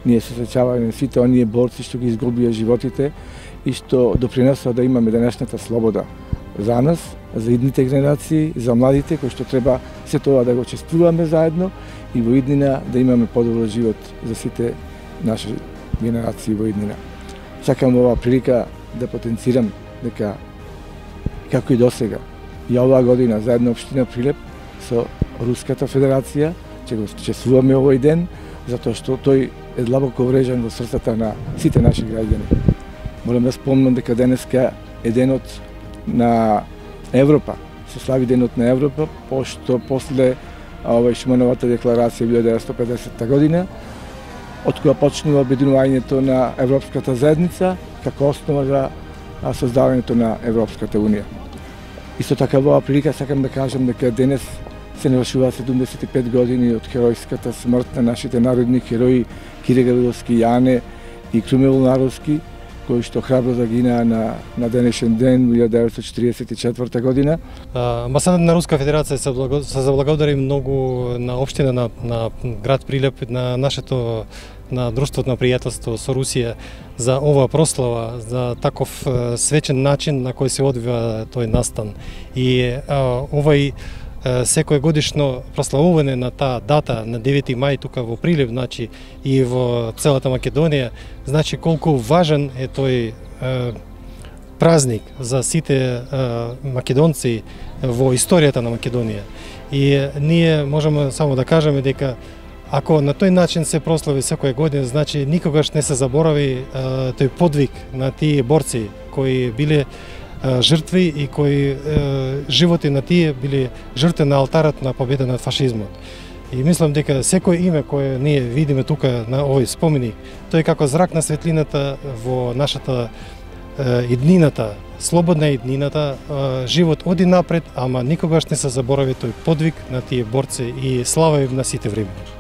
ние се сеќаваме сите оние борци што ги изгубија животите и што допринесоа да имаме денешната слобода за нас, за идните генерации, за младите кои што треба се тоа да го чествуваме заедно и во иднина да имаме подобар живот за сите наши генерации во иднина. Сакам оваа прилика да потенцирам дека како и досега и оваа година заедно општина Прилеп со Руската Федерација ќе го чествуваме овој ден затоа што тој е длабоко врежан во срцата на сите наши граѓани. Морам да спомнам дека денеска е денот на Европа, се слави денот на Европа, пошто после Шумановата декларација 1950 година, од која почнува обединувањето на Европската заедница како основа за создавањето на Европската унија. Исто така во оваа прилика сакам да кажам дека денес се навршува 75 години од херојската смрт на нашите народни херои Кире Гавриловски, Јане и Крумил Наровски, кои што храбро загинаа на денешен ден 1944 година. Амбасадата на Руска Федерација се заблагодари многу на општина на град Прилеп, на нашето на Друштвото на пријателство со Русија за оваа прослава, за таков свечен начин на кој се одвива тој настан. И овај секој годишно прославување на таа дата на 9 мај тука во Прилеп, значи и во целата Македонија, значи колку важен е тој празник за сите македонци во историјата на Македонија. И ние можеме само да кажеме дека ако на тој начин се прослави секоја година, значи никогаш не се заборави тој подвиг на тие борци кои биле жртви и кои животи на тие били жртви на алтарот на победа над фашизмот. И мислам дека секој име кое ние видиме тука на овој споменик, тој е како зрак на светлината во нашата иднината, слободна иднината, живот оди напред, ама никогаш не се заборави тој подвиг на тие борци и слава им на сите време.